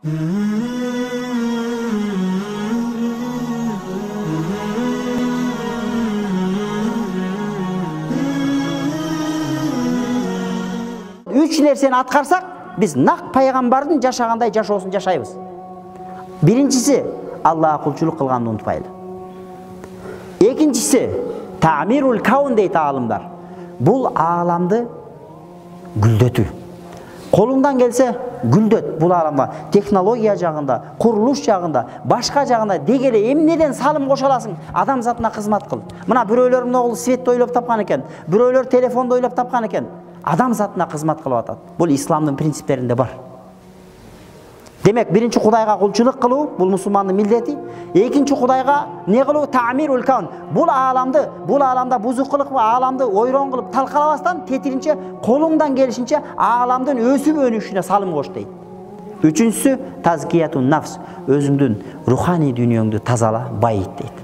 Үч нерсени аткарсак, биз нак пайгамбардын жашагандай жашоосун жашайбыз. Биринчиси, Аллахка кулчулук кылганды унутпайлы. Экинчиси, та'мирул каун дейт аалымдар. Бул ааламды гүлдөтүү. Колуңдан келсе гүлдөт бул ааламга. Технология жагында, курулуш жагында, башка жагында дегеле эмнеден салым кошо аласың? Адам затына кызмат кыл. Мына бирөөлөр могул светти ойлоп тапкан экен, бирөөлөр телефонду ойлоп тапкан экен. Адам затына кызмат кылып атат. Бул исламдын принциптеринде бар. Демек, биринчи Кудайга кулчулук кылуу бул мусулмандын милдети. Экинчи Кудайга не кылуу? Та'мирул каун. Бул ааламда бузук кылып, ааламды ойрон кылып талкалабастан, тетиринче колуңдан келишинче ааламдын өсүп өнүшүнө салым кош дейт. Үчүнчүсү тазкиятун нафс. Өзүңдүн руханий дүйнөңдү тазала, байыт дейт.